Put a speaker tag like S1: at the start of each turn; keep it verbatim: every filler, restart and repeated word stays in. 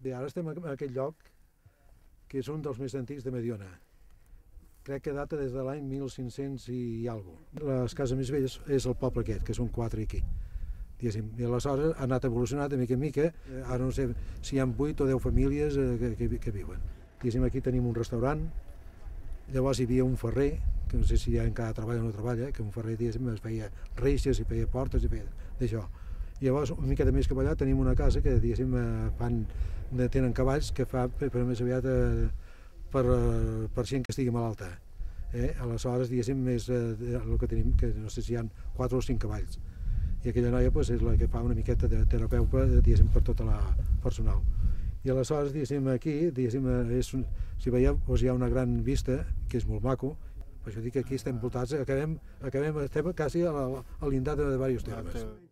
S1: Bé, ara estem en aquest lloc, que és un dels més antics de Mediona. Crec que data des de l'any mil cinc-cents i alguna cosa. Les cases més velles és el poble aquest, que són quatre aquí. I aleshores ha anat evolucionant de mica en mica. Ara no sé si hi ha vuit o deu famílies que, que, que viuen. Diguéssim, aquí tenim un restaurant, llavors hi havia un ferrer, que no sé si ja encara treballa o no treballa, que un ferrer, diguéssim, es feia reixes, i feia portes, i feia d'això. Llavors, una mica més cap allà, tenim una casa que, diguéssim, fan, tenen cavalls que fa, però més aviat eh, per, per gent que estigui malalta. Eh? Aleshores, diguéssim, és eh, el que tenim, que no sé si hi ha quatre o cinc cavalls. I aquella noia pues, és la que fa una miqueta de terapeuta, diguéssim, per tota la personal. I aleshores, diguéssim, aquí, diguéssim, és, si veieu, doncs hi ha una gran vista, que és molt maco. Per això dic que aquí estem voltats, acabem, acabem estem quasi a, la, a l'indar de diversos termes.